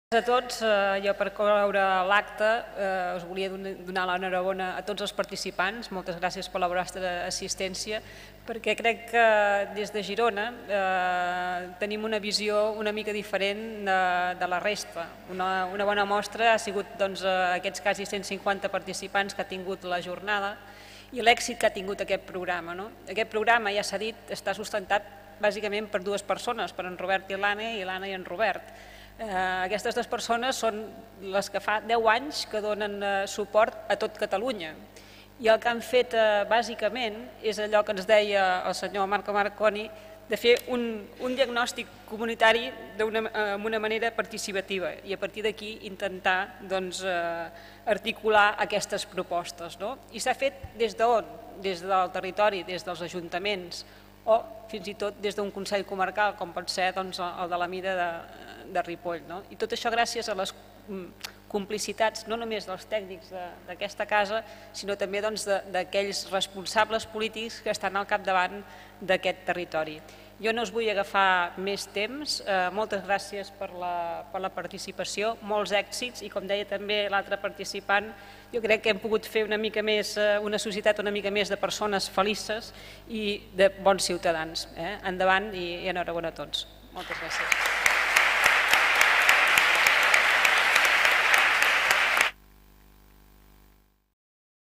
A tots, jo per cloure l'acte us volia donar l'enhorabona a tots els participants. Moltes gràcies per la vostra assistència, perquè crec que des de Girona tenim una visió una mica diferent de la resta. Una bona mostra ha sigut aquests quasi 150 participants que ha tingut la jornada i l'èxit que ha tingut aquest programa. Aquest programa, ja s'ha dit, està sustentat bàsicament per dues persones, per en Robert i l'Anna i en Robert. Aquestes dues persones són les que fa 10 anys que donen suport a tot Catalunya i el que han fet bàsicament és allò que ens deia el senyor Marco Marconi, de fer un diagnòstic comunitari amb una manera participativa i a partir d'aquí intentar articular aquestes propostes. I s'ha fet des d'on? Des del territori, des dels ajuntaments o fins i tot des d'un Consell Comarcal, com pot ser el de la mida de Ripoll. I tot això gràcies a les complicitats no només dels tècnics d'aquesta casa, sinó també d'aquells responsables polítics que estan al capdavant d'aquest territori. Jo no us vull agafar més temps, moltes gràcies per la participació, molts èxits i com deia també l'altre participant, jo crec que hem pogut fer una societat una mica més de persones felices i de bons ciutadans. Endavant i enhorabona a tots. Moltes gràcies.